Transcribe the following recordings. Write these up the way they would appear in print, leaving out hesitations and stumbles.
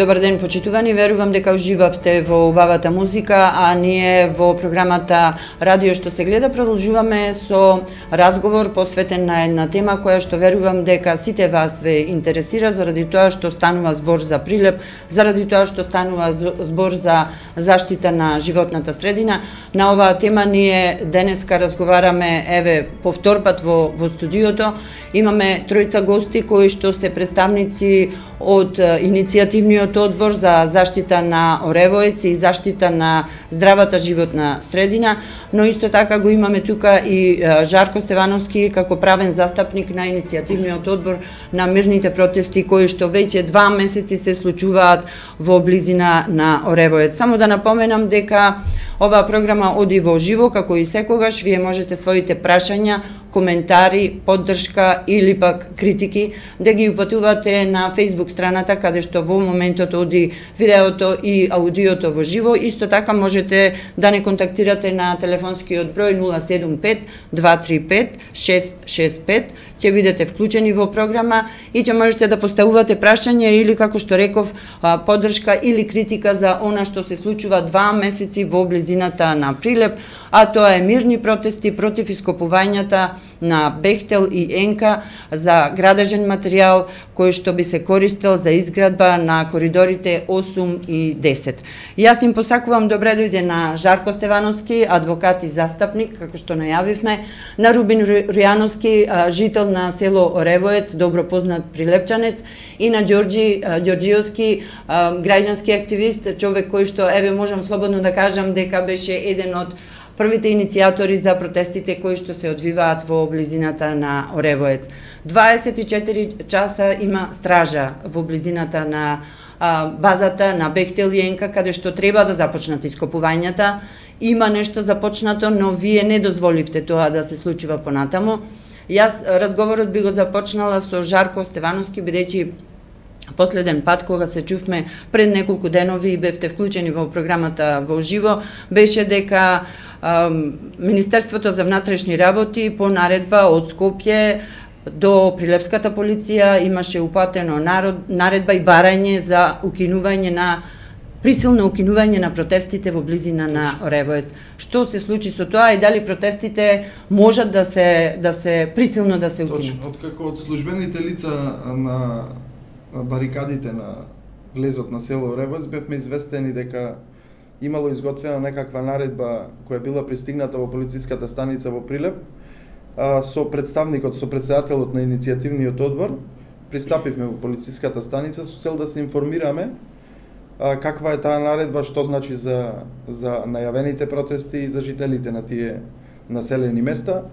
Добар ден, почитувани. Верувам дека уживавте во убавата музика, а ние во програмата Радио што се гледа продолжуваме со разговор посветен на една тема која што верувам дека сите вас ве интересира, заради тоа што станува збор за прилеп, заради тоа што станува збор за заштита на животната средина. На оваа тема ние денеска разговараме еве повторпат во студиото. Имаме тројца гости кои што се представници од иницијативниот одбор за заштита на Оревоец и заштита на здравата животна средина, но исто така го имаме тука и Жарко Стевановски како правен застапник на иницијативниот одбор на мирните протести кои што веќе 2 месеци се случуваат во близина на Оревоец. Само да напоменам дека оваа програма оди во живо, како и секогаш. Вие можете своите прашања, коментари, поддршка или пак критики да ги упатувате на Facebook страната каде што во моментот оди видеото и аудиото во живо. Исто така можете да не контактирате на телефонскиот број 075 235 665. Ќе бидете вклучени во програма и ќе можете да поставувате прашања или, како што реков, поддршка или критика за она што се случува 2 месеци во близината на Прилеп, а тоа е мирни протести против ископувањата на Бехтел и Енка за градежен материјал кој што би се користел за изградба на коридорите 8 и 10. Јас им посакувам добре дојде на Жарко Стевановски, адвокат и застапник, како што најавивме, на Рубин Рујановски, жител на село Оревоец, добро познат прилепчанец, и на Ѓорѓи Ѓорѓиовски, граѓански активист, човек кој што, еве, можам слободно да кажам дека беше еден од првите иницијатори за протестите кои што се одвиваат во близината на Оревоец. 24 часа има стража во близината на базата на Бехтел и Енка, каде што треба да започнат ископувањата. Има нешто започнато, но вие не дозволивте тоа да се случува понатаму. Јас разговорот би го започнала со Жарко Стевановски, бидејќи последен пат кога се чувме пред неколку денови и бевте вклучени во програмата во живо, беше дека Министерството за внатрешни работи по наредба од Скопје до Прилепската полиција имаше упатено наредба и барање за укинување на присилно укинување на протестите во близина на Оревоец. Што се случи со тоа и дали протестите можат да се присилно да се укинат? Точно, откако од службените лица на барикадите на влезот на село Оревоец бевме известени дека имало изготвена некаква наредба која била пристигната во полициската станица во Прилеп, со представникот, со претседателот на иницијативниот одбор. Пристапивме во полициската станица со цел да се информираме каква е таа наредба, што значи за најавените протести и за жителите на тие населени места.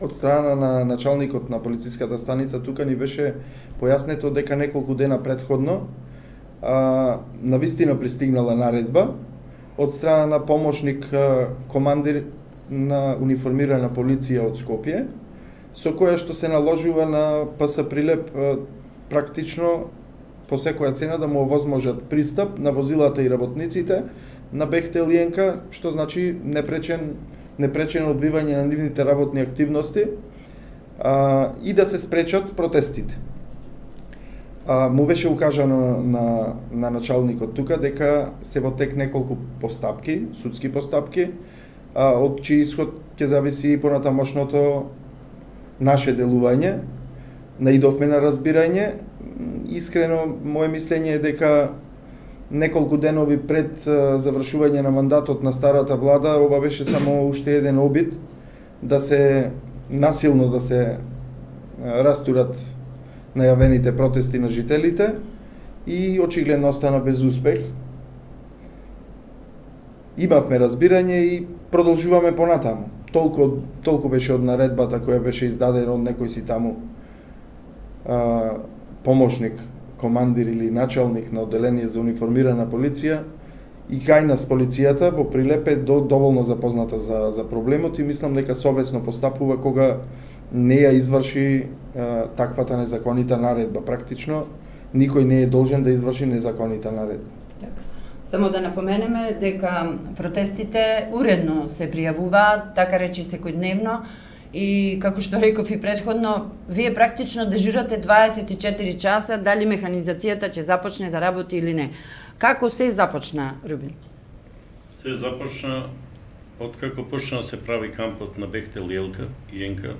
Од страна на началникот на полициската станица тука ни беше појаснето дека неколку дена предходно навистина пристигнала наредба од страна на помошник командир на униформирана полиција од Скопје, со која што се наложува на ПС Прилеп практично по секоја цена да му овозможат пристап на возилата и работниците на Бехтел и Енка, што значи непречено одвивање на нивните работни активности и да се спречат протестите. Му беше укажано на началникот тука дека се во тек неколку постапки, судски постапки, од чиј исход ќе зависи и понатамошното наше делување. Наидовме на разбирање. Искрено, моje мислење е дека неколку денови пред завршување на мандатот на старата влада, ова беше само уште еден обид да се насилно да се растурат најавените протести на жителите и очигледно остана без успех. Имавме разбирање и продолжуваме понатаму. Толку беше од наредбата која беше издадена од некој си таму помошник, командир или началник на одделение за униформирана полиција и кај нас полицијата во Прилеп е доволно запозната за проблемот и мислам дека совесно постапува кога не ја изврши таквата незаконита наредба. Практично никој не е должен да изврши незаконита наредба. Само да напоменеме дека протестите уредно се пријавуваат, така речи секојдневно, и како што реков и претходно, вие практично дежурате 24 часа, дали механизацијата ќе започне да работи или не. Како се започна, Рубин? Се започна откако почна да се прави кампот на Бехтел и Елка и Енка.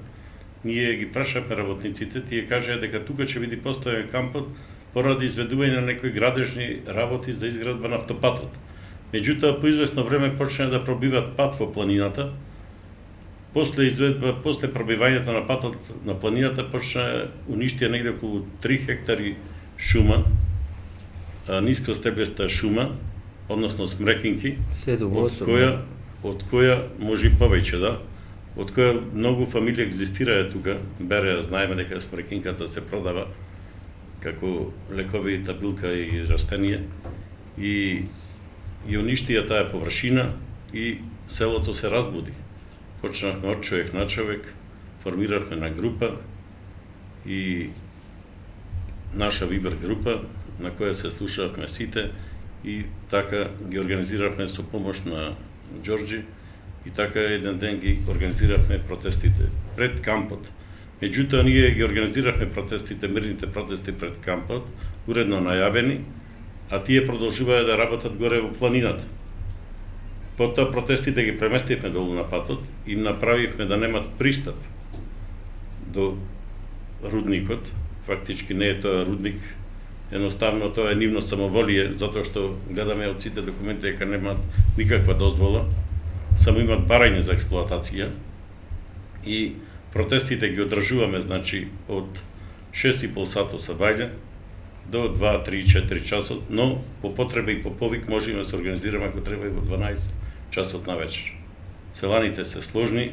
Ние ги прашавме работниците, тие кажаа дека тука ќе биде поставен кампот поради изведување на некои градежни работи за изградба на автопатот. Меѓутоа, по известно време почна да пробиват пат во планината. После пробивањето на патот на планината почна уништија негде околу 3 хектари шума, ниско стеблеста шума, односно смрекинки, од која може и повеќе, да, од која многу фамилии екзистираа тука. Бере, знаеме дека смрекинката се продава како лековита билка и растение, и уништија таа површина и селото се разбуди. Почнавме од човек на човек, формиравме на група и наша Вибер група на која се слушавме сите и така ги организиравме со помош на Ѓорџи и така еден ден ги организиравме протестите пред кампот. Меѓутоа, ние ги организиравме протестите, мирните протести пред кампот, уредно најавени, а тие продолжуваа да работат горе во планината. Потоа протестите ги преместивме долу на патот и направивме да немат пристап до рудникот. Фактички не е тоа рудник, едноставно тоа е нивно самоволие, затоа што гледаме од сите документи дека немаат никаква дозвола, само имат барање за експлоатација и протестите ги одржуваме, значи, од 6,5 сато са бајле до 2, 3, 4 часот, но по потреба и по повик можеме да се организираме ако треба и во 12 часот на вечер. Селаните се сложни,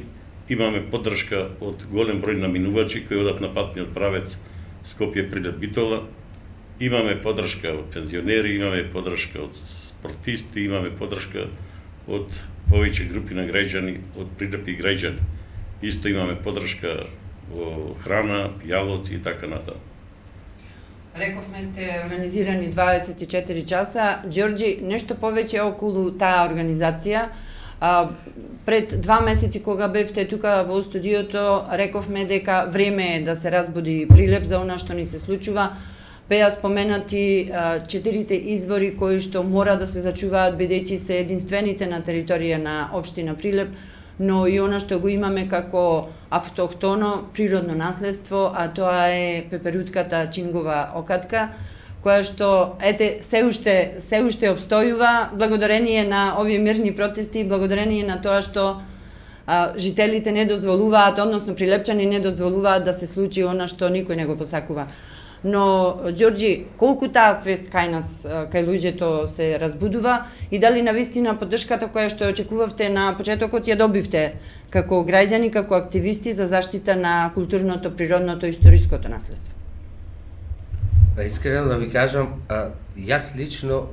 имаме поддршка од голем број наминувачи кои одат на патниот правец Скопје-Прилеп-Битола, имаме поддршка од пензионери, имаме поддршка од спортисти, имаме поддршка од повеќе групи на граѓани, од Прилепи граѓани. Исто имаме поддршка во храна, пијалоци и така натаму. Рековме сте организирани 24 часа. Ѓорџи, нешто повеќе околу таа организација. Пред 2 месеци кога бевте тука во студиото, рековме дека време е да се разбуди Прилеп за она што ни се случува. Беа споменати 4 извори кои што мора да се зачуваат бидејќи се единствените на територија на општина Прилеп, но и она што го имаме како автохтоно природно наследство, а тоа е пеперутката чингова окатка, која што се уште обстојува благодарение на овие мирни протести, благодарение на тоа што жителите не дозволуваат, односно прилепчани не дозволуваат да се случи она што никој не го посакува. Но, Ѓорџи, колку таа свест кај нас, кај луѓето се разбудува и дали навистина поддршката која што очекувавте на почетокот ја добивте како граѓани, како активисти за заштита на културното, природното и историското наследство? Искрено да ви кажам, јас лично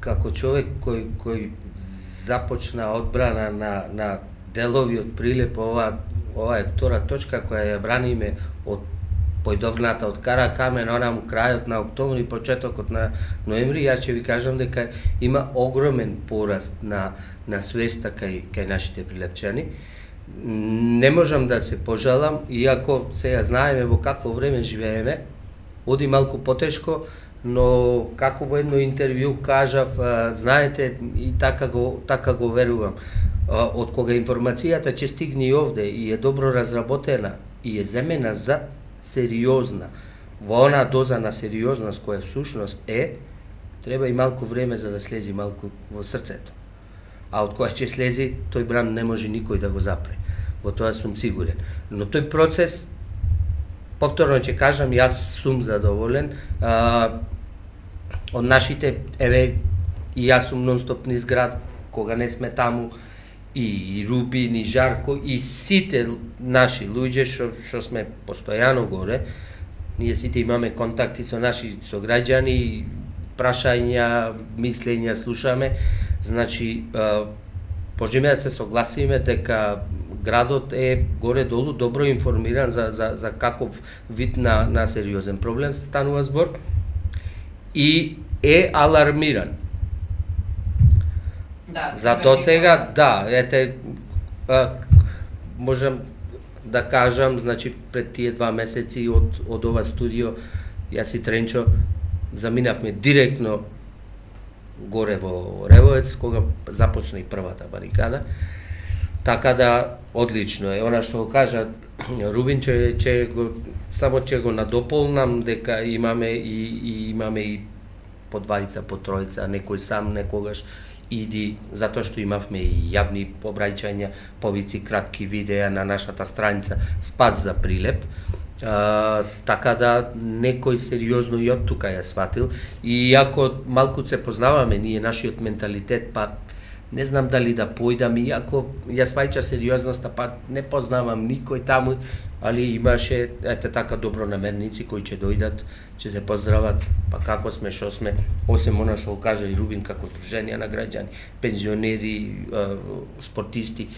како човек кој започна одбрана на делови од Прилеп, ова е втора точка која ја браниме од појдовната од Каракамен, онам крајот на октомври, почетокот на ноември, јас ќе ви кажам дека има огромен пораст на свеста кај нашите прилепчани. Не можам да се пожалам, иако сега знаеме во какво време живееме, оди малку потешко, но како во едно интервју кажав, знаете, и така го верувам, од кога информацијата ќе стигне овде и е добро разработена и е земена за сериозна, во она доза на сериозност која всушност треба и малку време за да слези малку во срцето. А од која ќе слези, тој бран не може никој да го запре. Во тоа сум сигурен. Но тој процес, повторно ќе кажам, јас сум задоволен. Од нашите, и јас сум нон-стоп низ град, кога не сме таму, и Рубин, и Жарко, и сите наши луѓе што сме постојано горе, ние сите имаме контакти со наши сограѓани, прашања, мислења слушаме, значи, можеме да се согласиме дека градот е горе-долу добро информиран за каков вид на сериозен проблем станува збор и е алармиран. Да, Зато сега, да, можам да кажам, значи пред тие 2 месеци од ова студио, јас и Тренчо заминавме директно горе во Ревоец, кога започна и првата барикада. Така да, одлично е. Она што го кажа Рубин, само ќе го надополнам, дека имаме и по двајца, по тројца, некој сам некогаш иди, затоа што имавме и јавни обраќања, повици, кратки видеа на нашата страница Спас за Прилеп. Така да некој сериозно и од тука ја сватил, и ако малку се познаваме ние нашиот менталитет, па не знам дали да појдам, иако ја сваќа сериозноста, па не познавам никој таму, али имаше така добронамерници кои ќе дојдат, ќе се поздрават, па како сме, што сме, осем она што кажа и Рубин, како здруженија на граѓани, пензионери, спортисти,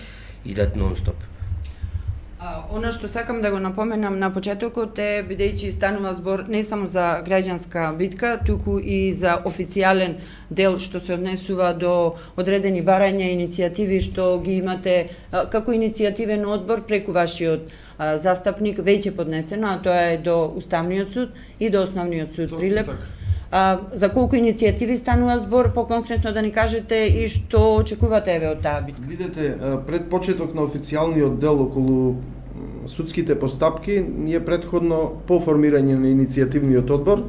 идат нон-стоп. Она што сакам да го напоменам на почетокот е, бидејќи станува збор не само за граѓанска битка, туку и за официјален дел што се однесува до одредени барања и иницијативи што ги имате како иницијативен одбор преку вашиот застапник веќе поднесено, а тоа е до Уставниот суд и до Основниот суд Прилеп. За колку иницијативи станува збор, по-конкретно да ни кажете и што очекувате еве од таа битка? Видете, пред почеток на официјалниот дел околу судските постапки, ние претходно по формирање на иницијативниот одбор,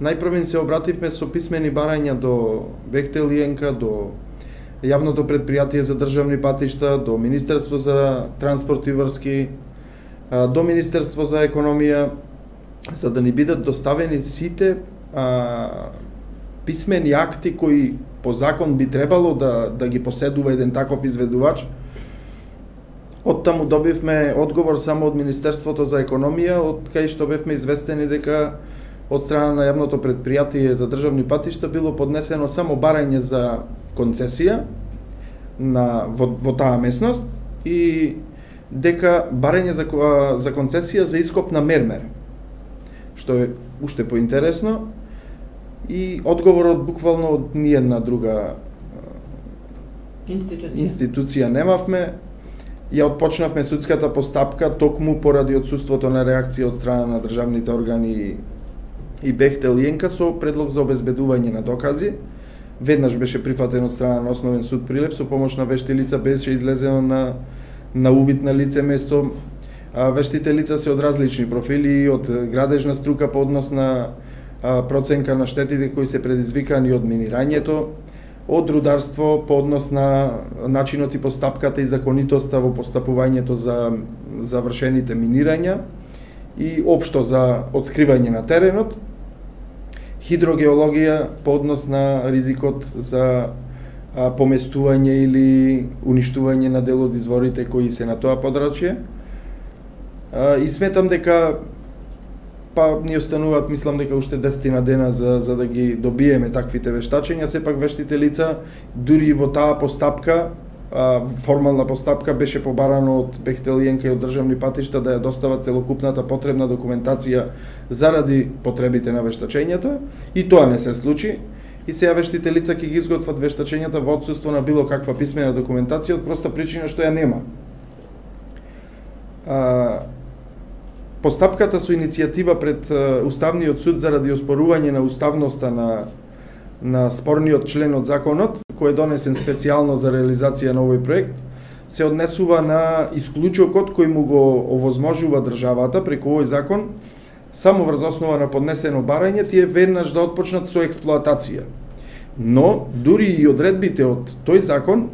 најпрвен се обративме со писмени барања до Бехтел и ЕНКА, до Јавното предпријатие за државни патишта, до Министерство за транспорт и врски, до Министерство за економија, за да ни бидат доставени сите писмени акти кои по закон би требало да ги поседува еден таков изведувач. Од таму добивме одговор само од Министерството за економија, од кај што бевме известени дека од страна на Јавното предпријатие за државни патишта било поднесено само барање за концесија во таа местност и дека барање за концесија за ископ на мермер, што е уште поинтересно, и одговорот буквално од ниедна друга институција немавме. Ја отпочнавме судската постапка токму поради отсуството на реакција од страна на државните органи и Бехтел и ЕНКА со предлог за обезбедување на докази. Веднаш беше прифатен од страна на Основен суд Прилеп со помош на вешти лица, беше излезено на увид на лице место. Вештите лица се од различни профили, од градежна струка по однос на проценка на штетите кои се предизвикани од минирањето, од рударство по однос на начинот и постапката и законитоста во постапувањето за вршените минирања и општо за откривање на теренот, хидрогеологија по однос на ризикот за поместување или уништување на дел од изворите кои се на тоа подрачје. И сметам дека ни остануваат, мислам дека уште 10 дена за да ги добиеме таквите вештачења. Сепак вештите лица, дури во таа постапка, формална постапка, беше побарано од Бехтел и ЕНКА и од државни патишта да ја достават целокупната потребна документација заради потребите на вештачењата, и тоа не се случи. И сега вештите лица ќе ги изготват вештачењата во отсуство на било каква писмена документација од проста причина што ја нема. Постапката со иницијатива пред Уставниот суд заради оспорување на уставноста на спорниот член од законот, кој е донесен специјално за реализација на овој проект, се однесува на исклучокот кој му го овозможува државата преку овој закон, само врз основа на поднесено барање, тие веднаш да отпочнат со експлоатација. Но, дури и одредбите од тој закон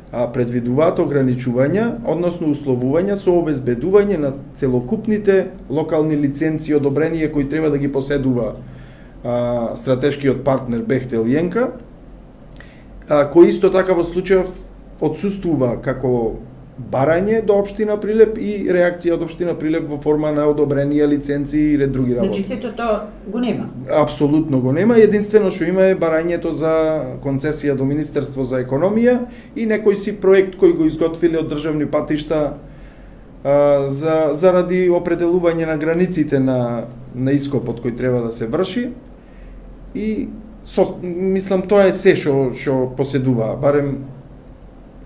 предвидуваат ограничувања, односно условувања со обезбедување на целокупните локални лиценци и одобренија кои треба да ги поседува стратешкиот партнер Бехтел и ЕНКА, кој исто така во случајов отсуствува како барање до општина Прилеп и реакција од општина Прилеп во форма на одобренија лиценци и ред други работи. Значи сето тоа го нема? Апсолутно го нема. Единствено што има е барањето за концесија до Министерство за економија и некој си проект кој го изготвиле од државни патишта заради определување на границите на ископот кој треба да се врши. И мислам тоа е се што поседува, барем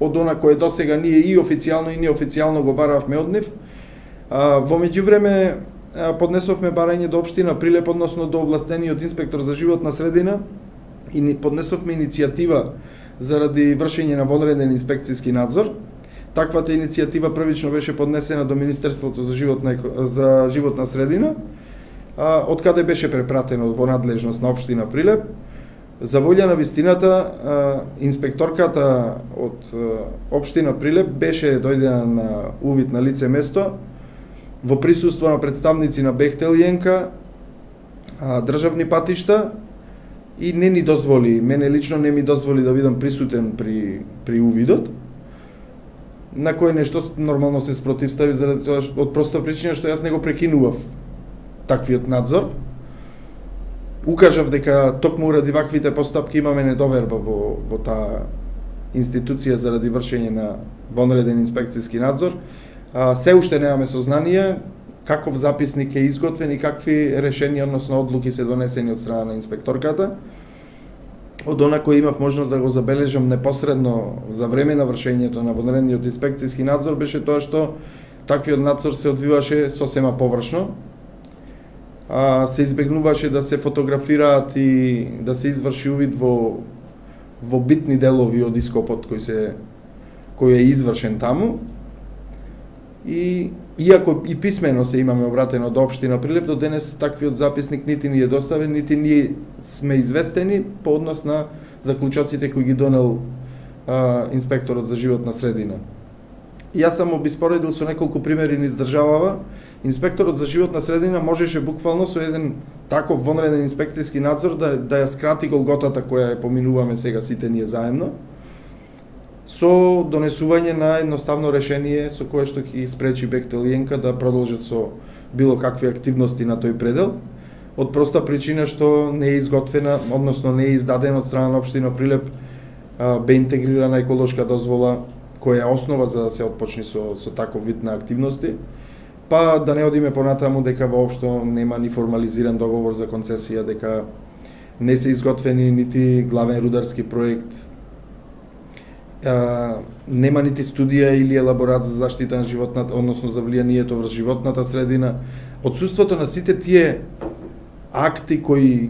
од она кое досега ние и официјално и неофицијално го баравме од нив. Во меѓувреме поднесовме барање до општина Прилеп, односно до овластениот инспектор за животна средина, и поднесовме иницијатива заради вршење на вонреден инспекцијски надзор. Таквата иницијатива првично беше поднесена до Министерството за животна средина, од каде беше препратено во надлежност на општина Прилеп. За волја на вистината, инспекторката од општина Прилеп беше дојдена на увид на лице место во присуство на представници на Бехтел и ЕНКА, државни патишта, и не ни дозволи, мене лично не ми дозволи да бидам присутен при увидот, на кој нешто нормално се спротивстави заради тоа од проста причина што јас не го прекинував таквиот надзор. Укажав дека токму ради ваквите постапки имаме недоверба во таа институција заради вршење на вонреден инспекцијски надзор. Се уште немаме сознание каков записник е изготвен и какви решенија, односно одлуки се донесени од страна на инспекторката. Од она кој имав можност да го забележам непосредно за време на вршењето на вонредниот инспекцијски надзор беше тоа што таквиот надзор се одвиваше сосема површно. Се избегнуваше да се фотографираат и да се изврши увид во битни делови од ископот кој е извршен таму. И иако и писмено се имаме обратено до општина Прилеп, до денес таквиот записник нити ни е доставен, нити ние сме известени по однос на заклучоците кои ги донел инспекторот за животна средина. Јас сам обиспоредил со неколку примери низ државава. Инспекторот за животна средина можеше буквално со еден таков вонреден инспекцијски надзор да ја скрати голготата која ја поминуваме сега сите ние заедно, со донесување на едноставно решение со кое што ќе спречи Бехтел и ЕНКА да продолжат со било какви активности на тој предел, од проста причина што не е изготвена, односно не е издадена од страна на општина Прилеп бе интегрирана еколошка дозвола која е основа за да се отпочне со таков вид на активности. Па да не одиме понатаму дека воопшто нема ни формализиран договор за концесија, дека не се изготвени нити главен рударски проект, нема нити студија или елаборат за заштита на животната, односно за влијанието врз животната средина. Одсуството на сите тие акти кои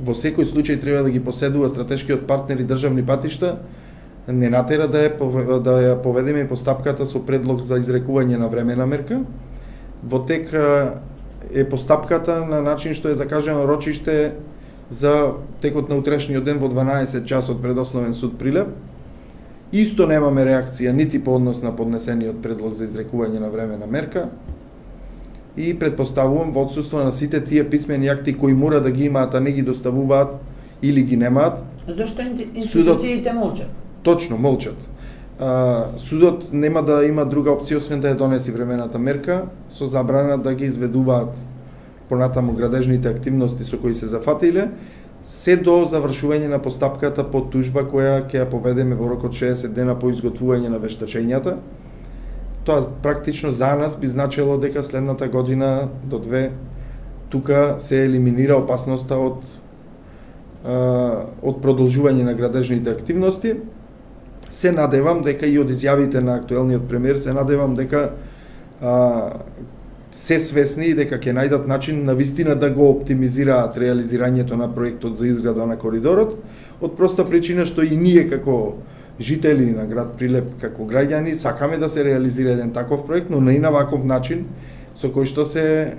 во секој случај треба да ги поседува стратешкиот партнер и државни патишта не натера да ја поведеме постапката со предлог за изрекување на времена мерка. Во тек е постапката на начин што е закажано рочиште за текот на утрешниот ден во 12 часот пред Основен суд Прилеп. Исто немаме реакција нити по однос на поднесениот предлог за изрекување на времена мерка и предпоставувам во отсуство на сите тие писмени акти кои мора да ги имаат, а не ги доставуваат или ги немаат. Зошто институциите молчат? Точно, молчат. Судот нема да има друга опција освен да ја донеси времената мерка со забрана да ги изведуваат понатаму градежните активности со кои се зафатиле, се до завршување на постапката по тужба која ќе ја поведеме во рок од 60 дена по изготвување на вештачењата. Тоа практично за нас би значило дека следната година до 2 тука се елиминира опасноста од продолжување на градежните активности. Се надевам дека и од изјавите на актуелниот премиер се надевам дека се свесни и дека ќе најдат начин на вистина да го оптимизираат реализирањето на проектот за изграда на коридорот, од проста причина што и ние како жители на град Прилеп, како граѓани, сакаме да се реализира еден таков проект, но не и на ваков начин со кој што се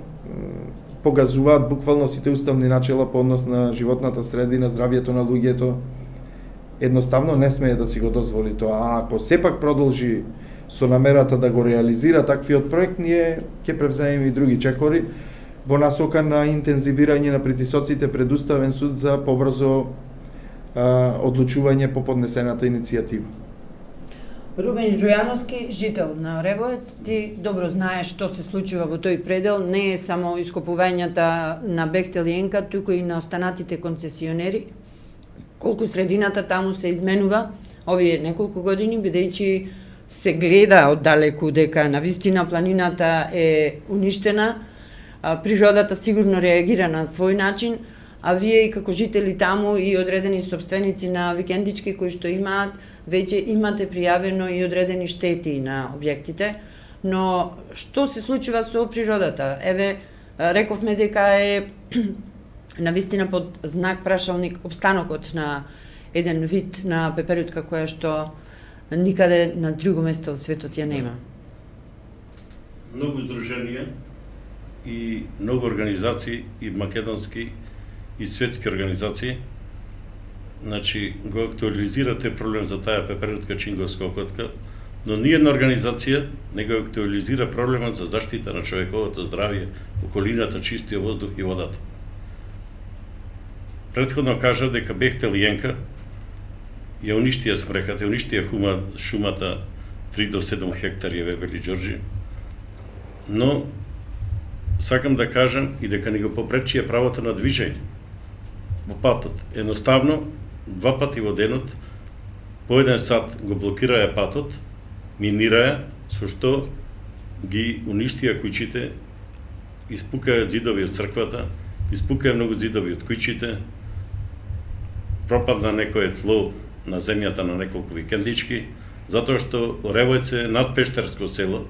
погазуваат буквално сите уставни начела по однос на животната средина, здравјето на луѓето. Едноставно не смее да си го дозволи тоа. А ако сепак продолжи со намерата да го реализира таквиот проект, ние ќе превземеме и други чекори во насока на интензивирање на притисоците пред Уставен суд за побрзо одлучување по поднесената иницијатива. Рубен Джојановски, жител на Ревоец, ти добро знаеш што се случува во тој предел, не е само ископувањата на Бехтел и ЕНКА, туку и на останатите концесионери. Колку средината таму се изменува овие неколку години, бидејќи се гледа оддалеку дека навистина планината е уништена, природата сигурно реагира на свој начин, а вие и како жители таму и одредени собственици на викендички кои што имаат, веќе имате пријавено и одредени штети на објектите, но што се случува со природата? Еве, рековме дека е навистина под знак прашалник обстанокот на еден вид на пеперутка која што никаде на друго место во светот ја нема. Многу здруженија и многу организации и македонски и светски организации, значи го актуализира тој проблем за таа пеперутка чинговска окотка, но ниједна организација не го актуализира проблемот за заштита на човековото здравје, околината, чистиот воздух и водата. Претходно кажа дека Бехтел и Енка ја уништија смреката, ја уништија шумата 3 до 7 хектари во Вели Ѓорѓи, но сакам да кажам и дека не го попречија правото на движење во патот. Едноставно, 2 пати во денот, по 1 сат го блокираја патот, минираја, со што ги уништија куќите, испукаја ѕидови од црквата, испукаја многу ѕидови од куќите, пропадна некое тло на земјата на неколку викендички, затоа што Оревојец е надпештерско село.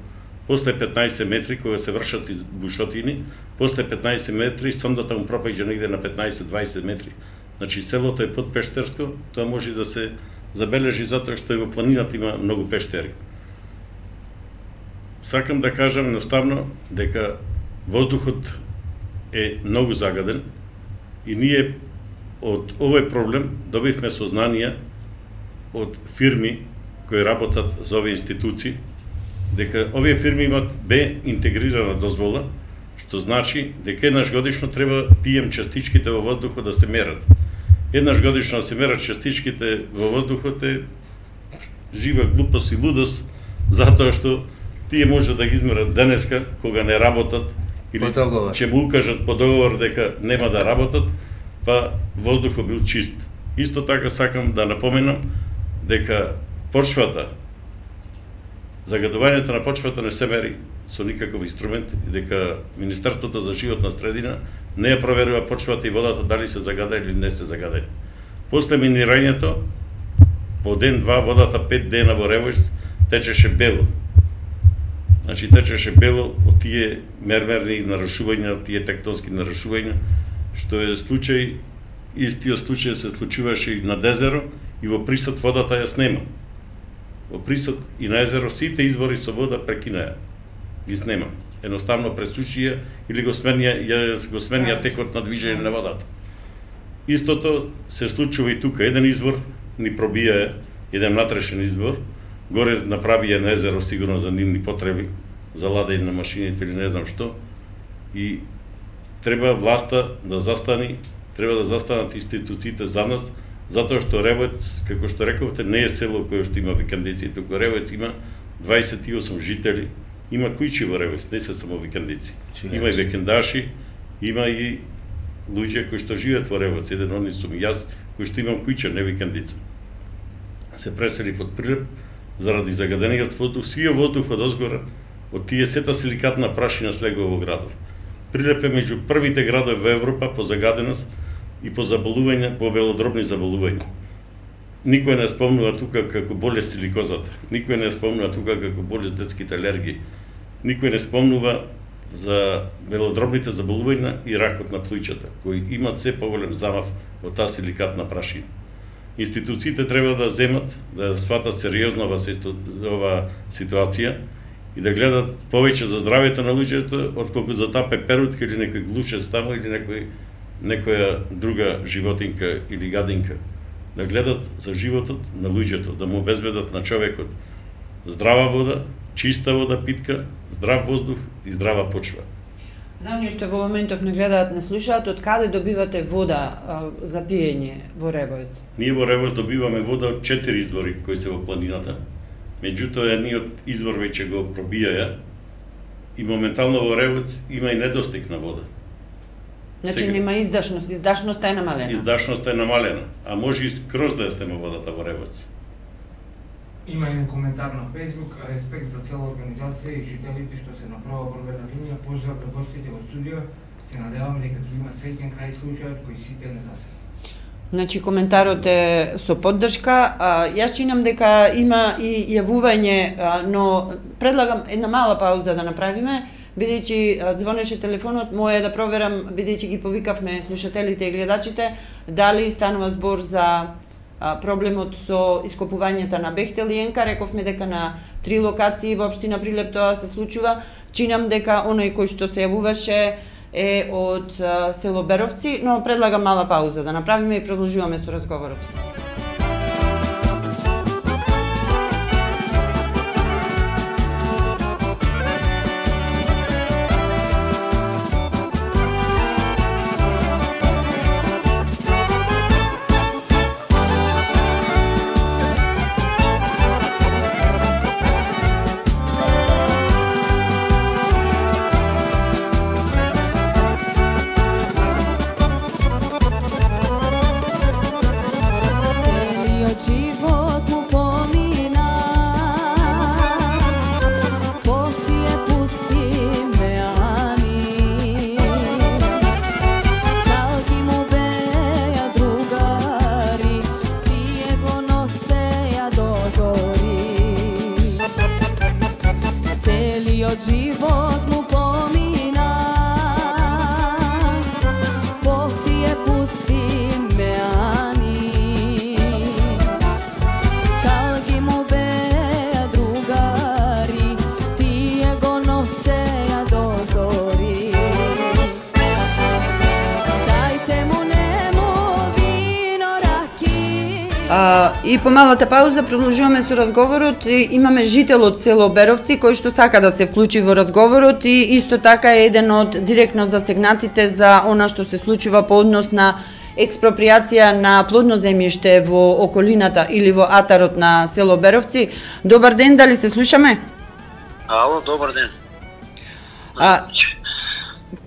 После 15 метри, кога се вршат бушотини, после 15 метри сондата му пропаѓа негде на 15-20 метри. Значи селото е подпештерско, тоа може да се забележи затоа што и во планината има многу пештери. Сакам да кажам едноставно дека воздухот е многу загаден и ние од овој проблем добивме сознание од фирми кои работат за овие институции, дека овие фирми имат Б интегрирана дозвола, што значи дека еднаш годишно треба PM частичките во воздухот да се мерат. Еднаш годишно да се мерат частичките во воздухот е жива глупост и лудост, затоа што тие може да ги измерат денеска кога не работат или ќе му укажат по договор дека нема да работат, па воздухот бил чист. Исто така сакам да напоменам дека почвата, загадувањето на почвата не се мери со никаков инструмент и дека Министерството за животна средина не ја проверува почвата и водата дали се загадени или не се загадени. После минирањето, по ден-два водата 5 дена во Ревојц течеше бело. Значи течеше бело од тие мермерни нарушувања, од тие тектонски нарушувања, што е случај, истиот случај се случуваше и на Дезеро и во Присот водата ја снема. Во Присот и на езеро сите извори со вода прекинаја, ги снема. Едноставно пресушија или го сменија текот на движење на водата. Истото се случува и тука. Еден извор ни пробија, еден натрешен извор, горе направија на езеро сигурно за нивни потреби, за ладење на машините или не знам што, и треба власта да застани, треба да застанат институциите за нас, затоа што Ревојец, како што рековте, не е село кое што има викендици, туку Ревојец има 28 жители, има куќи во Ревојец, не се само викендици. Има и викендаши, има и луѓе кои што живеат во Ревојец, еден од нив сум јас, кој што имам куќа, не викендица. Се преселив од Прилеп заради загадениот воздух, сиот воздух од озгора, од тие сета силикатна прашина слегува во градов. Прилеп е меѓу првите градови во Европа по загаденост и по заболувања, по белодробни заболувања. Никој не спомнува тука како болест силикозата, никој не спомнува тука како болест детските алергии, никој не спомнува за белодробните заболувања и ракот на плуќата, кои имат се поголем замав од таа силикатна прашина. Институциите треба да земат, да сватат сериозно ова ситуација и да гледат повеќе за здравјето на луѓето, отколку за таа пеперутка или некој глушец таму или некоја друга животинка или гадинка. Да гледат за животот на луѓето, да му обезбедат на човекот здрава вода, чиста вода питка, здрав воздух и здрава почва. За оние што во моментов не гледаат, не слушаат, од каде добивате вода за пиење во Ревојц? Ние во Ревојц добиваме вода од 4 извори кои се во планината. Меѓутоа, едниот извор веќе го пробијаја и моментално во Ревојц има и недостиг на вода. Значи нема издашност, издашноста е намалена. Издашноста е намалена, а може и скроз да ја снема водата во Ревојц. Има еден коментар на Facebook, респект за цела организација и жителите што се направа борбена линија, поздрав до гостите во студио, Се надевам дека ќе има среќен крај случајот кој сите не засега. Значи, коментарот е со поддршка. Јас чинам дека има и јавување, но предлагам една мала пауза да направиме, бидејќи звонеше телефонот, мој е да проверам, бидејќи ги повикавме слушателите и гледачите, дали станува збор за проблемот со ископувањата на Бехтел и Енка. Рековме дека на 3 локации во општина Прилеп тоа се случува. Чинам дека оној кој што се јавуваше е од село Беровци, но предлагам мала пауза да направиме и продолжуваме со разговорот. Život mu pomina, Bog ti je pusti me ani, čalgi mu beja drugari, ti je go noseja do zori. Dajte mu nemo vino raki. И по малата пауза продолжуваме со разговорот. Имаме жител од село Беровци кој што сака да се вклучи во разговорот и исто така е еден од директно засегнатите за она што се случува по однос на експроприација на плодно земјиште во околината или во атарот на село Беровци. Добар ден, дали се слушаме? Ало, добар ден.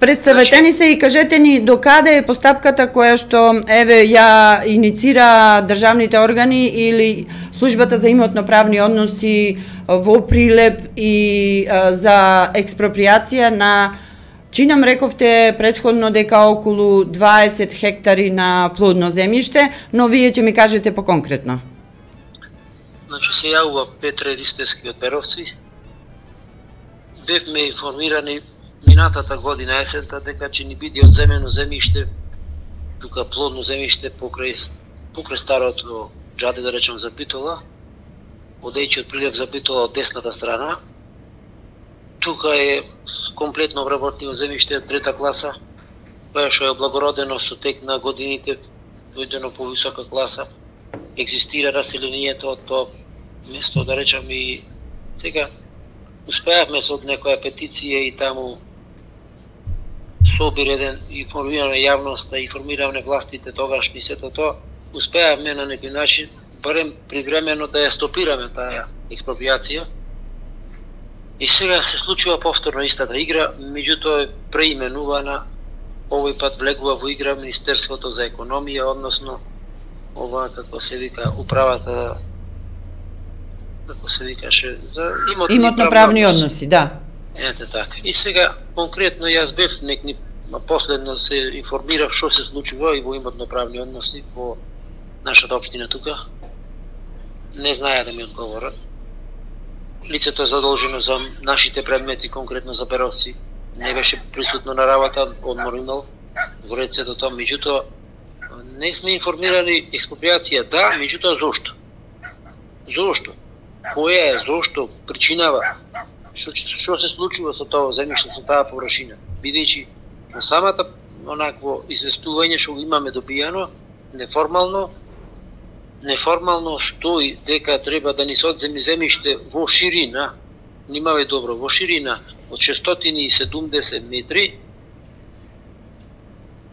Представете ни се и кажете ни до каде е постапката која што ја иницира државните органи или службата за имотно-правни односи во Прилеп и за експроприација на, чинам рековте предходно дека околу 20 хектари на плодно земјиште, но вие ќе ми кажете поконкретно. Значи се јавува Петре Ристевски од Беровци. Бевме информирани минатата година есента дека ќе ни биде одземено земјиште, тука плодно земјиште покрај старото џаде, да речем, за Битола, одејќи од Прилеп за Битола од десната страна. Тука е комплетно обработено земјиште од трета класа, која што е облагородено со тек на годините, дојдено по висока класа. Екзистира раселението од тоа место, да речем, и сега успеавме со некоја петиција и таму собир еден, информираме јавноста, информираме властите тогашни, сето тоа, успеавме на некој начин, барем привремено да ја стопираме таа експроприација. И сега се случува повторно истата игра, меѓутоа е преименувана, овој пат влегува во игра Министерството за економија, односно ова, како се вика, управата, како се викаше, за имотно-правни односи, да. Ете така. И сега, конкретно, јас бев последно се информирав што се случува и во имотно-правни односи во нашата општина тука. Не знаја да ми одговорат. Лицето е задолжено за нашите предмети, конкретно за Беровци. Не беше присутно на работа, одмор имал во рецето тоа, меѓутоа не сме информирани експроприација, да, меѓутоа зошто? Зошто? Која е, зошто, причинава? Што се случува со тоа земјиште, со таа површина? Бидејќи во самата онакво известување што го имаме добијано, неформално стои дека треба да ни се одземи земјиште во ширина, внимавај добро, во ширина од 670 метри,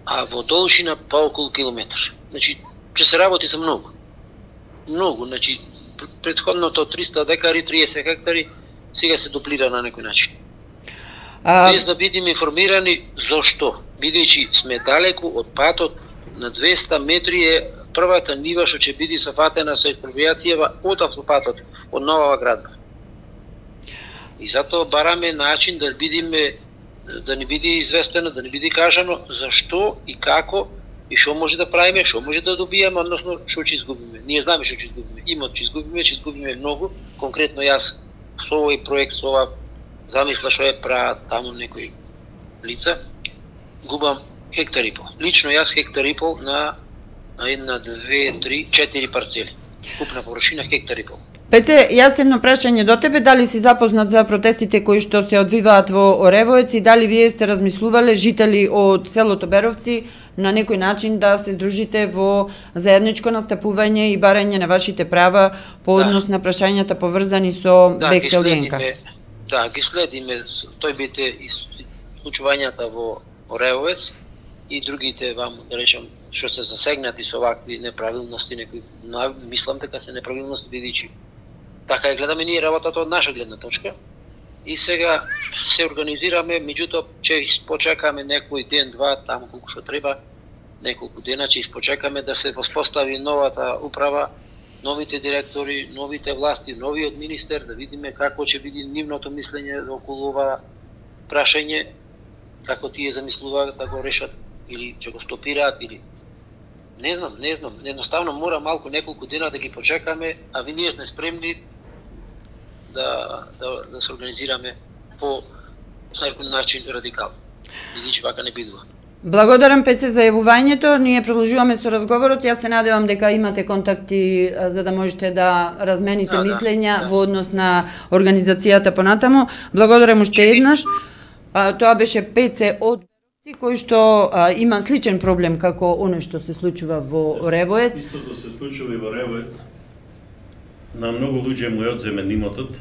а во должина па околу километар. Значи, ќе се работи за многу. Многу, значи, предходното 300 декари, 30 хектари, сега се дуплира на некој начин. Без да бидеме информирани зошто, бидејќи сме далеку од патот, на 200 метри е првата нива што ќе биде софатена со експроприацијава од автопатот, од Нова Градба. И затоа бараме начин да бидеме да ни биде известено, да ни биде кажано зашто и како и што може да правиме, што може да добиеме, односно што ќе изгубиме. Ние знаеме што ќе изгубиме. Имот ќе изгубиме многу. Конкретно јас со овој проект, со ова замисла што е прават таму некои лица, губам хектар и пол. Лично јас хектар и пол на 1, 2, 3, 4 парцели. Купна површина хектар и пол. Пеце, јас едно прашање до тебе, дали си запознат за протестите кои што се одвиваат во Оревоец и дали вие сте размислувале, жители од селото Беровци, на некој начин да се здружите во заедничко настапување и барање на вашите права по однос на прашањата поврзани со Бехтел Јенка? Да, ги следиме, тој бите и случувањата во Оревоец и другите вам, да речем, што се засегнати со вакви неправилности, некои, мислам дека се неправилности, бидејќи така ја гледаме ние работата од наша гледна точка. И сега се организираме, меѓутоа ќе испочекаме некој ден, два, таму колку што треба, неколку дена ќе испочекаме да се воспостави новата управа, новите директори, новите власти, новиот министер, да видиме како ќе биде нивното мислење околу ова прашање, како тие замислуваат да го решат или ќе го стопираат или не знам, едноставно мора малку неколку дена да ги почекаме, а ние сме спремни да се организираме по некој начин радикално. Бидејќи вака не бидува. Благодарам, Пеце, за јавувањето. Ние продолжуваме со разговорот. Јас се надевам дека имате контакти за да можете да размените мислења во однос на организацијата понатаму. Благодарам уште еднаш. Тоа беше Пеце од Беровци, кој што има сличен проблем како оној што се случува во Оревоец. Истото се случува и во Оревоец. На многу луѓе му е одземен имотот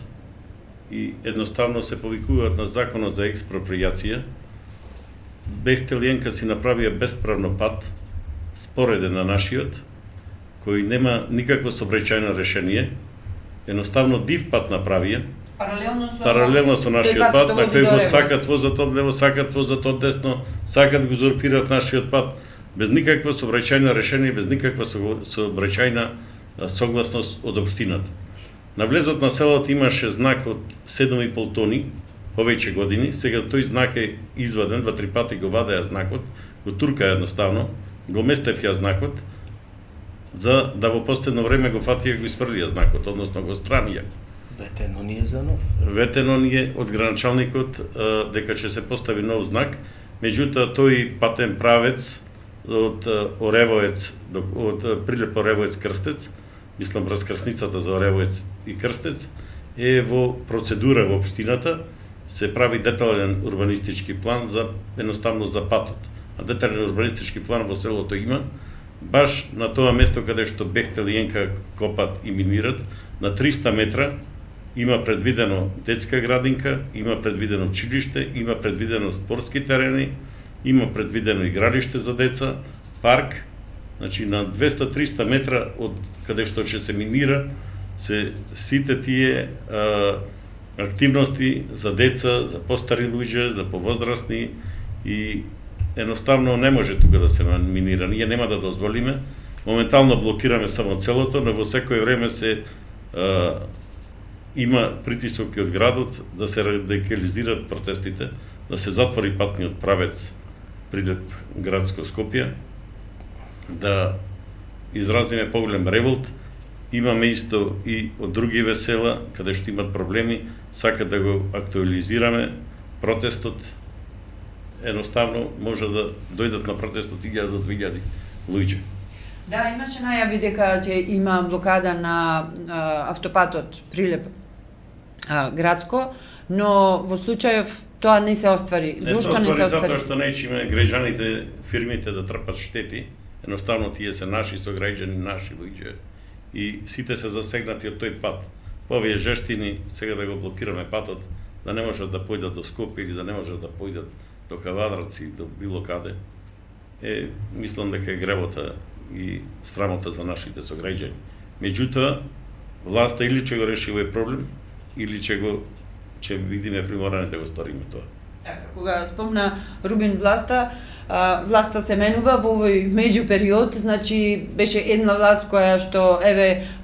и едноставно се повикуваат на законот за експропријација. Бехтел Јенка си направија бесправно пат, спореден на нашиот, кој нема никакво сообраќајно решение, едноставно див пат направија, паралелно со нашиот пат, на кој го сакат возат од лево, сакат возат од десно, сакат го узурпираат нашиот пат, без никакво сообраќајно решение, без никаква сообраќајна согласност од општината. На влезот на селото имаше знак од 7,5 тони, повеќе години, сега тој знак е изваден, 2-3 пати го вадеа знакот, го турка едноставно, го местев ја знакот, за да во последно време го фатија го испрлија знакот, односно го странија. Ветено ни е за нов. Ветено ни е од граначалникот дека ќе се постави нов знак, меѓутоа тој патен правец од Оревоец, од Прилеп Оревоец Крстец, мислам раскрсницата за Оревоец и Крстец, е во процедура во општината, се прави детален урбанистички план за едноставно за патот. А детален урбанистички план во селото има, баш на тоа место каде што Бехтел Јенка копат и минират, на 300 метра има предвидено детска градинка, има предвидено училиште, има предвидено спортски терени, има предвидено игралиште за деца, парк, значи на 200-300 метра од каде што ќе се минира, се сите тие активности за деца, за постари луѓе, за повозрастни и едноставно не може тука да се минира. Ние нема да дозволиме. Моментално блокираме само целото, но во секој време се има притисоки од градот да се радикализираат протестите, да се затвори патниот правец Прилеп градско Скопје, да изразиме поголем револт. Имаме исто и од други весела, каде што имат проблеми, сакат да го актуализираме протестот. Едноставно може да дојдат на протестот 1000 до 2000 луѓе. Да, имаше најави дека ќе има блокада на автопатот Прилеп градско, но во случајов тоа не се оствари. Зошто не се оствари? Затоа што неќиме граѓаните, фирмите да трпат штети, едноставно тие се наши сограѓани, наши луѓе. И сите се засегнати од тој пат. По овие жештини сега да го блокираме патот, да не можат да појдат до Скопје или да не можат да појдат до Кавадарци, до било каде. Мислам дека е гревота и срамота за нашите сограѓани. Меѓутоа, власта или ќе го реши овој проблем, или ќе видиме приморани да го сториме тоа. Кога спомна Рубин власта, власта се менува во овој меѓупериод, значи беше една власт која што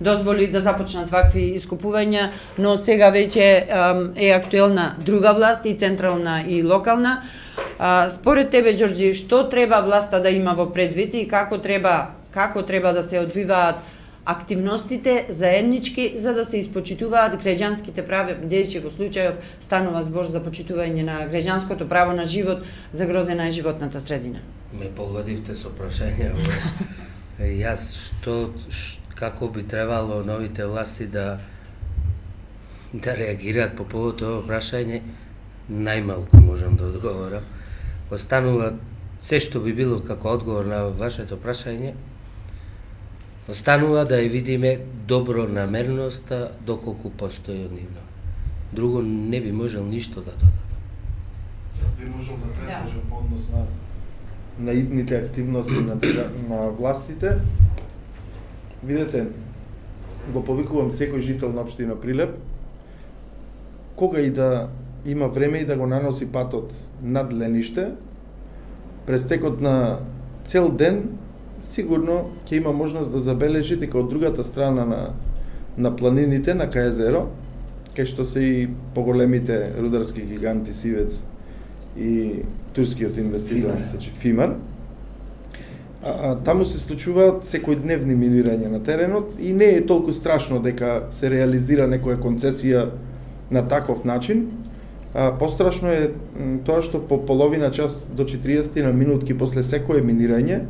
дозволи да започнат вакви искупувања, но сега веќе е актуелна друга власт, и централна и локална. Според тебе, Ѓорѓи, што треба власта да има во предвид и како треба да се одвиваат активностите заеднички за да се испочитуваат граѓанските права, бидејќи во случајов станува збор за почитување на граѓанското право на живот, загрозена е животната средина? Ме погодивте со прашање. Јас како би требало новите власти да реагираат по повод ово прашање, најмалку можам да одговорам. Останува се што би било како одговор на вашето прашање, останува да ја видиме добронамерноста доколку постои од нивно. Друго не би можел ништо да додадам. Јас би можел да предложам по однос на идните активности на властите. Видете, го повикувам секој жител на општина Прилеп, кога и да има време и да го наноси патот над Лениште, през текот на цел ден сигурно ќе има можност да забележи дека од другата страна на планините на Кајезеро, кај што се и поголемите рударски гиганти Сивец и турскиот инвеститор, мислече Фимар, таму се случуваат секојдневни минирања на теренот и не е толку страшно дека се реализира некоја концесија на таков начин. Пострашно е тоа што по половина час до 40 на минутки после секое минирање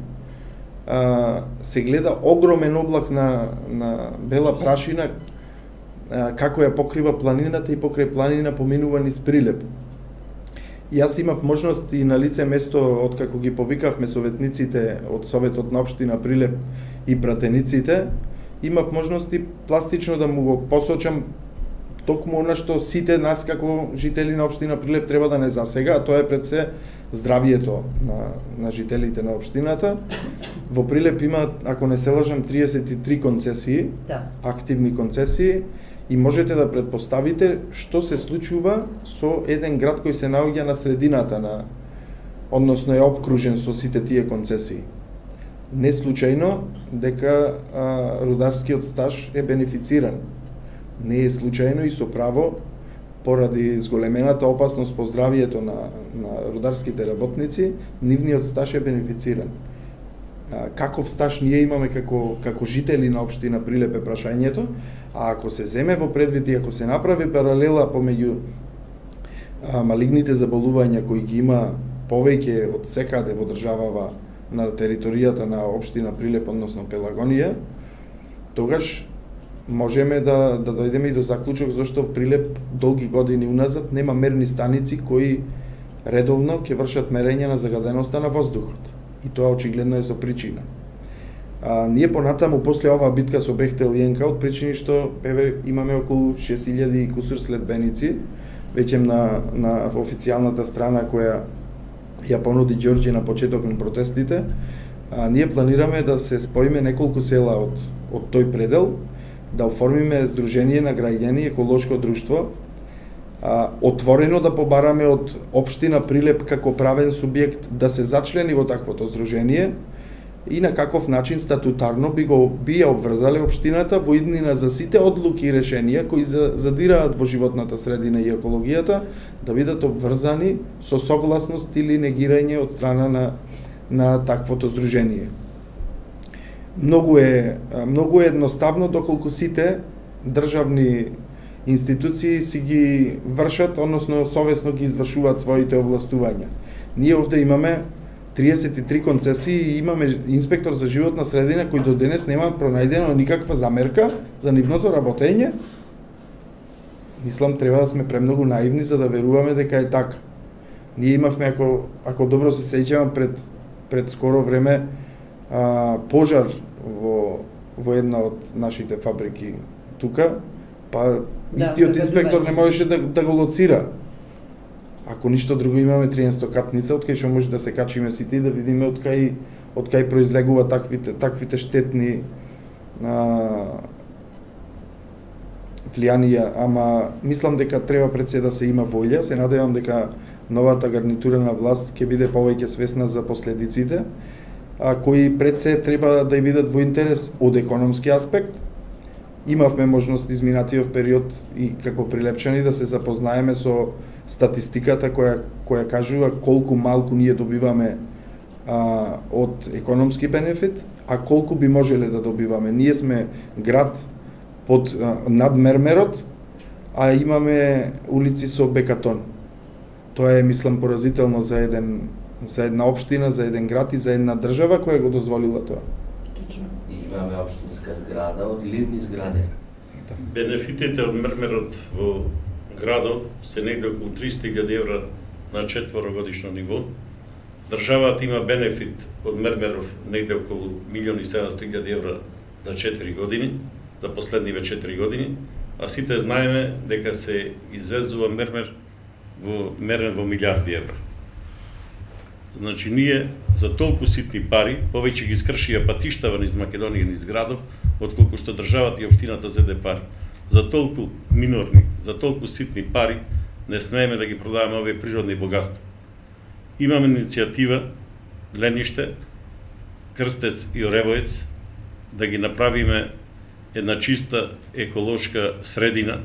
се гледа огромен облак на бела прашина како ја покрива планината и покрај планина поминува низ Прилеп. Јас имав можност и на лице место, откако ги повикавме советниците од Советот на општина Прилеп и пратениците, имав можност и пластично да му го посочам токму она што сите нас како жители на општина Прилеп треба да не засега, а тоа е пред се здравието на жителите на општината. Во Прилеп има, ако не се лажам, 33 концесии, активни концесии, и можете да претпоставите што се случува со еден град кој се наоѓа на средината односно е обкружен со сите тие концесии. Не случајно дека рударскиот стаж е бенефициран. Не е случајно и со право, поради зголемената опасност по здравието на рударските работници, нивниот стаж е бенефициран. Каков стаж ние имаме како жители на општина Прилеп е прашањето, а ако се земе во предвид и ако се направи паралела помеѓу малигните заболувања кои ги има повеќе од секаде во државава на територијата на општина Прилеп, односно Пелагонија, тогаш можеме да дојдеме и до заклучок зашто Прилеп долги години уназад нема мерни станици кои редовно ќе вршат мерење на загаденоста на воздухот. И тоа очигледно е со причина. Ние понатаму после оваа битка со Бехтел и Енка, од причини што имаме околу 6000 и кусур следбеници, веќе на официјалната страна која ја понуди Ѓорѓи на почеток на протестите, ние планираме да се споиме неколку села од тој предел, да оформиме Сдружение на граѓани еколошко друштво, отворено да побараме од општина Прилеп како правен субјект да се зачлени во таквото здружение и на каков начин статутарно би ја обврзале општината во иднина за сите одлуки и решенија кои задираат во животната средина и екологијата да бидат обврзани со согласност или негирање од страна на таквото здружение. Многу е едноставно доколку сите државни институции си ги вршат, односно совесно ги извршуваат своите овластувања. Ние овде имаме 33 концесии и имаме инспектор за животна средина кој до денес нема пронајдено никаква замерка за нивното работење. Мислам, треба да сме премногу наивни за да веруваме дека е така. Ние имавме, ако добро се сеќавам, пред скоро време пожар во една од нашите фабрики тука, па истиот инспектор не можеше да го лоцира. Ако ништо друго, имаме 300 катница, од кај што може да се качиме сите и да видиме од кај произлегува таквите штетни влијанија, ама мислам дека треба пред се да се има волја, се надевам дека новата гарнитура на власт ќе биде повеќе свесна за последиците, кои пред се треба да бидат во интерес од економски аспект. Имавме можност изминатиот период и како прилепчани да се запознаеме со статистиката која кажува колку малку ние добиваме од економски бенефит, а колку би можеле да добиваме. Ние сме град под над мермерот, а имаме улици со бекатон. Тоа е, мислам, поразително за една општина, за еден град и за една држава која го дозволила тоа. Имаме општинска зграда од ливни згради. Бенефитите од мермерот во градот се негде околу 300.000 евра на 4-годишно ниво. Државата има бенефит од мермеров негде околу 1.700.000 евра за 4 години, за последниве 4 години, а сите знаеме дека се извезува мермер мерен во милиарди евра. Значи, ние за толку ситни пари, повеќе ги скршија патиштава низ Македонија низ градов, отколку што државата и општината зеде пари. За толку минорни, за толку ситни пари, не смееме да ги продаваме овие природни богатства. Имаме иницијатива Лениште, Крстец и Оревоец да ги направиме една чиста еколошка средина.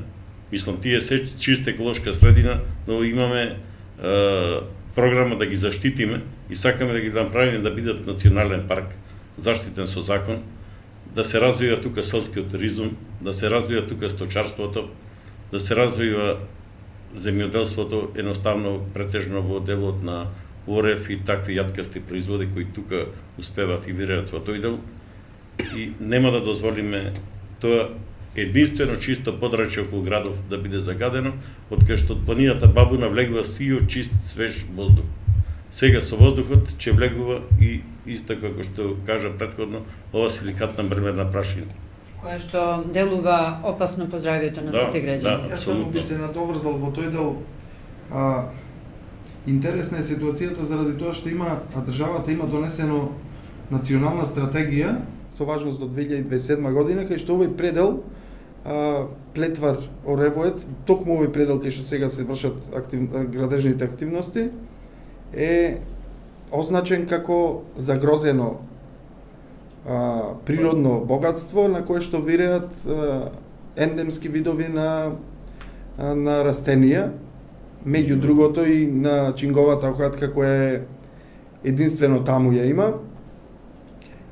Мислам, тие се чиста еколошка средина, но имаме програма да ги заштитиме и сакаме да ги направиме да бидат национален парк, заштитен со закон, да се развива тука селскиот туризм, да се развива тука сточарството, да се развива земјоделството, едноставно претежно во делот на орев и такви јаткасти производи кои тука успеваат и вираат во тој дел. И нема да дозволиме тоа единствено чисто подрачје околу градов да биде загадено, откај што од планината Бабуна влегува сио, чист, свеж воздух. Сега со воздухот ќе влегува и исто како што кажа претходно, ова силикатна мрмерна прашина. Која што делува опасно по здравјето на сите граѓани. Јас само би се надоврзал во тој дел. Интересна е ситуацијата заради тоа што државата има донесено национална стратегија со важност до 2027 година, кај што овој предел Плетвар Оревоец, токму овој предел кај што сега се вршат градежните активности, е означен како загрозено природно богатство на кое што виреат ендемски видови на растенија, меѓу другото и на чинговата охатка која е единствено таму ја има.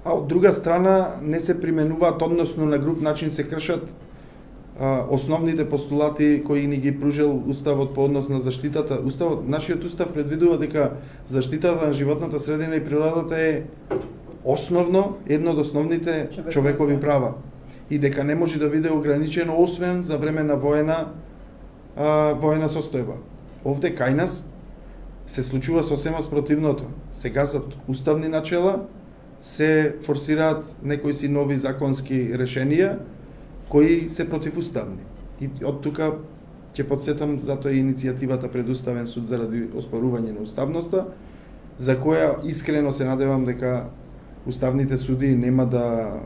А од друга страна не се применуваат, односно на груб начин се кршат основните постулати кои ни ги пружил Уставот по однос на заштитата. Нашиот устав предвидува дека заштитата на животната средина и природата е основно, едно од основните човекови права и дека не може да биде ограничено освен за време на воена состојба. Овде кај нас се случува сосема спротивното. Сега за уставни начела се форсираат некои си нови законски решенија кои се противуставни. И од тука ќе подсетам, затоа е иницијативата пред Уставен суд заради оспорување на уставноста, за која искрено се надевам дека уставните суди нема да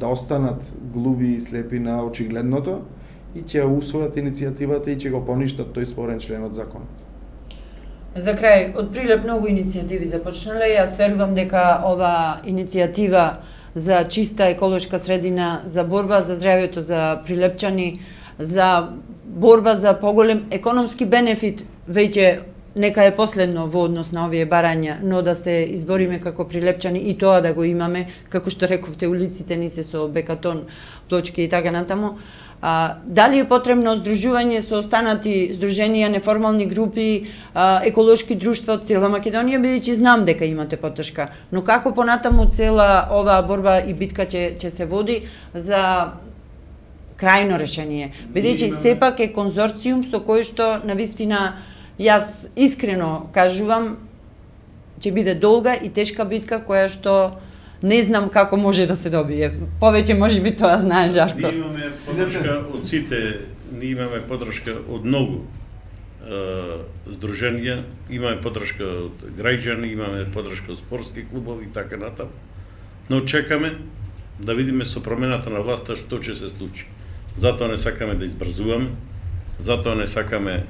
останат глуви и слепи на очигледното и ќе усвојат иницијативата и ќе го поништат тој спорен член од законот. За крај, од Прилеп многу иницијативи започнале. Јас верувам дека ова иницијатива за чиста еколошка средина, за борба за здравјето за прилепчани, за борба за поголем економски бенефит, веќе нека е последно во однос на овие барања, но да се избориме како прилепчани и тоа да го имаме, како што рековте, улиците ни се со бекатон, плочки и така натаму. Дали е потребно здружување со останати здруженија, неформални групи, еколошки друштва од цела Македонија, бидејќи знам дека имате поддршка, но како понатаму цела оваа борба и битка ќе се води за крајно решение, бидејќи сепак е конзорциум со кој што навистина јас искрено кажувам ќе биде долга и тешка битка која што не знам како може да се добие. Повеќе може би тоа знае Жарко. Ние имаме поддршка од сите, ние имаме поддршка од многу здруженија, имаме поддршка од граѓани, имаме поддршка од спортски клубови и така натаму. Но чекаме да видиме со промената на власта што ќе се случи. Затоа не сакаме да избрзуваме, затоа не сакаме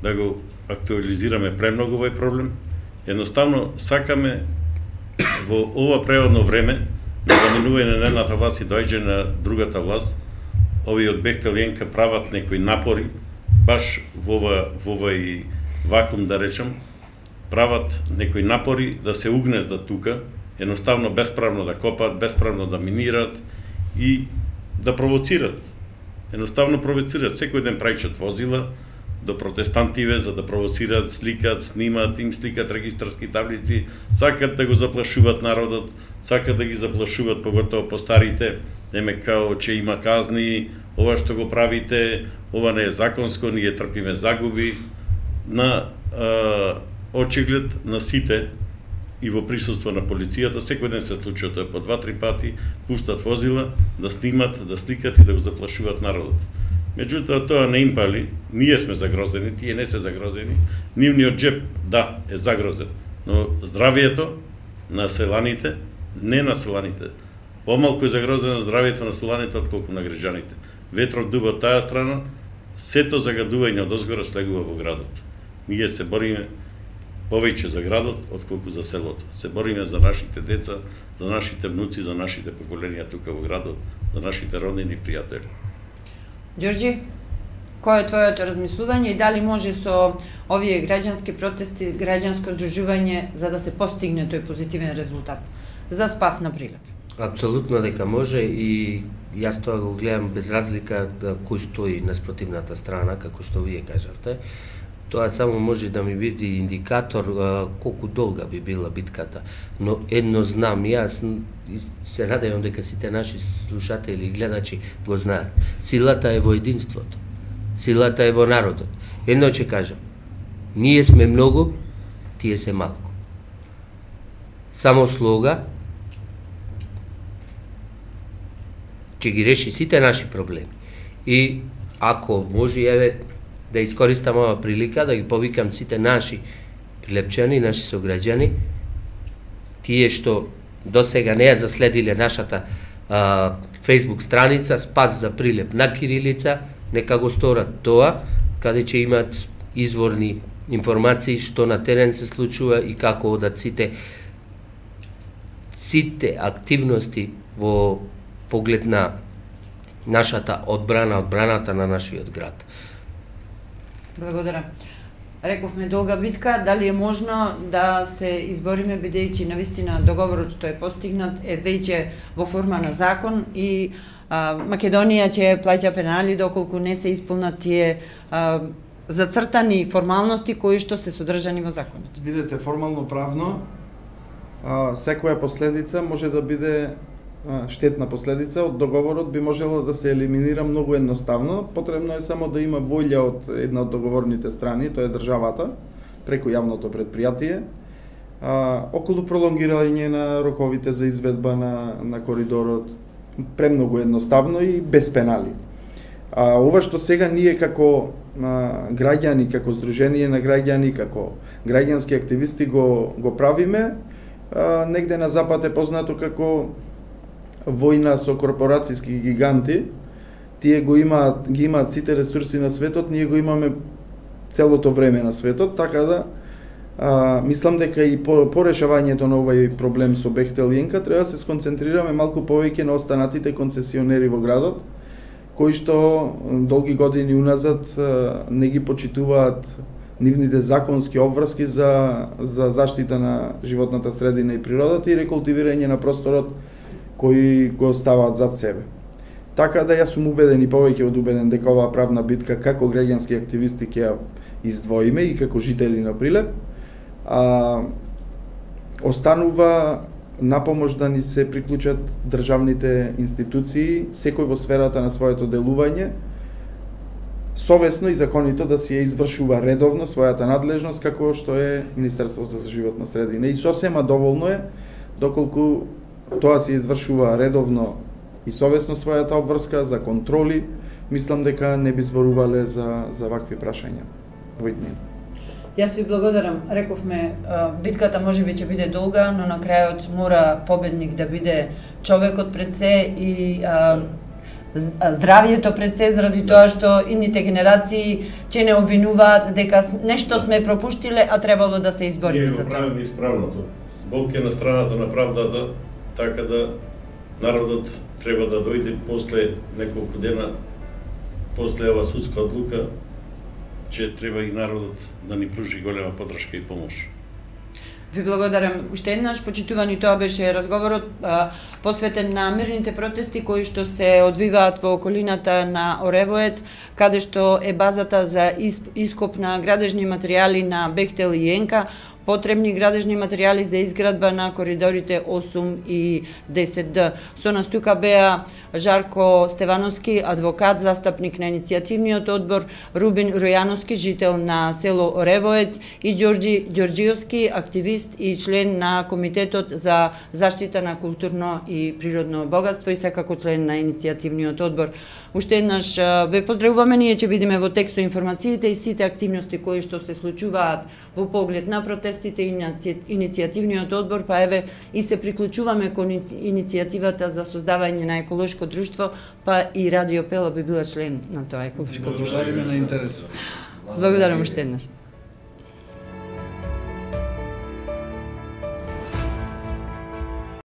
да го актуализираме премногу овој проблем. Едноставно сакаме во ова преодно време на заминување на едната власт и доаѓање на другата власт, овие од Бехтел и Енка прават некои напори, баш во овој вакуум да речем, прават некои напори да се угнездат тука, едноставно бесправно да копаат, бесправно да минират и да провоцират. Едноставно провоцират, секој ден праќат возила до протестантиве за да провоцират, сликат, снимат, им сликат регистарски таблици, сакат да го заплашуваат народот, сакат да ги заплашуваат поготово постарите, неме као че има казни, ова што го правите, ова не е законско, ние трпиме загуби. На очиглед на сите и во присуство на полицијата, секој ден се случува тоа по 2-3 пати, пуштат возила да снимат, да сликат и да го заплашуваат народот. Меѓутоа тоа не им пали, ние сме загрозени, тие не се загрозени, нивниот джеп, да, е загрозен, но здравието на селаните, не на селаните, помалку е загрозено здравието на селаните отколку на граѓаните. Ветрот дува од таа страна, сето загадување од озгора слегува во градот. Ние се бориме повеќе за градот отколку за селото. Се бориме за нашите деца, за нашите внуци, за нашите поколенија тука во градот, за нашите роднини и пријатели. Ѓорѓи, кој е твоето размислување и дали може со овие граѓански протести, граѓанско здружување за да се постигне тој позитивен резултат за спас на Прилеп? Апсолутно дека може и јас тоа го гледам без разлика да кој стои на спротивната страна, како што вие кажавте. Тоа само може да ми биде индикатор колку долга би била битката, но едно знам, јас се надевам дека сите наши слушатели и гледачи го знаат. Силата е во единството. Силата е во народот. Едно ќе кажам. Ние сме многу, тие се малку. Само слога ќе ги реши сите наши проблеми. И ако може, еве, да искористам ова прилика, да ги повикам сите наши прилепчани, наши сограѓани, тие што до сега не ја заследиле нашата Facebook страница Спас за Прилеп на кирилица, нека го сторат тоа, каде ќе имат изворни информации што на терен се случува и како одат сите активности во поглед на нашата одбраната на нашиот град. Благодарам. Рековме долга битка, дали е можно да се избориме бидејќи навистина договорот што е постигнат е веќе во форма на закон и Македонија ќе плаќа пенали доколку не се исполнат тие зацртани формалности кои што се содржани во законот. Видете, формално правно секоја последица може да биде штетна последица од договорот би можела да се елиминира многу едноставно. Потребно е само да има волја од една од договорните страни, тоа е државата, преку јавното предпријатие, околу пролонгирање на роковите за изведба на коридорот, премногу едноставно и без пенали. Ова што сега ние како граѓани, како здружение на граѓани, како граѓански активисти го правиме, негде на запад е познато како војна со корпорацијски гиганти. Тие ги имаат сите ресурси на светот, ние го имаме целото време на светот, така да мислам дека и по решавањето на овој проблем со Бехтел и Енка треба да се сконцентрираме малку повеќе на останатите концесионери во градот, кои што долги години уназад не ги почитуваат нивните законски обврски за заштита на животната средина и природата и рекултивирање на просторот кои го ставаат зад себе. Така да јас сум убеден и повеќе од убеден дека оваа правна битка како граѓански активисти ќе ја издвоиме и како жители на Прилеп, останува напомош да ни се приклучат државните институции, секој во сферата на своето делување, совесно и законито да си ја извршува редовно својата надлежност како што е Министерството за животна средина. И сосема доволно е доколку тоа се извршува редовно и совесно својата обврска за контроли, мислам дека не би зборувале за вакви прашања во иднина. Јас ви благодарам. Рековме, битката можеби ќе биде долга, но на крајот мора победник да биде човекот пред се и здравието пред се, заради тоа што идните генерации ќе не обвинуваат дека нешто сме пропуштиле, а требало да се избориме за тоа. Ние го правиме исправното. Бог е на страната на правдата, така да народот треба да дојде после неколку дена, после ова судска одлука, че треба и народот да ни пружи голема поддршка и помош. Ви благодарам уште еднаш, почитувани, тоа беше разговорот посветен на мирните протести кои што се одвиваат во околината на Оревоец, каде што е базата за ископ на градежни материјали на Бехтел и Енка, потребни градежни материјали за изградба на коридорите 8 и 10Д. Со нас тука беа Жарко Стевановски, адвокат, застапник на иницијативниот одбор, Рубин Ројановски, жител на село Оревоец, и Ѓорѓи Ѓорѓиовски, активист и член на Комитетот за заштита на културно и природно богатство и секако член на иницијативниот одбор. Уште еднаш ве поздравуваме, ние ќе бидеме во текст со информациите и сите активности кои што се случуваат во поглед на протестите и иницијативниот одбор, па еве и се приклучуваме кон иницијативата за создавање на еколошко друштво, па и Радио Пела би била член на тоа еколошко друштво. Благодариме на интересот. Благодарам уште еднаш.